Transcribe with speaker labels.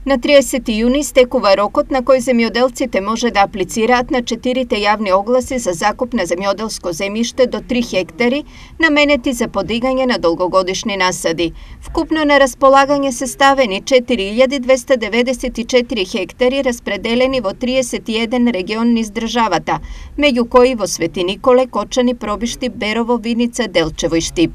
Speaker 1: На 30 јуни стекува рокот на кој земјоделците може да аплицираат на 4 јавни огласи за закуп на земјоделско земјиште до 3 хектари, наменети за подигање на долгогодишни насади. Вкупно на располагање се ставени 4294 хектари распределени во 31 регион низ државата, меѓу кои во Свети Николе, Кочани, Пробишти, Берово, Виница, Делчево и Штип.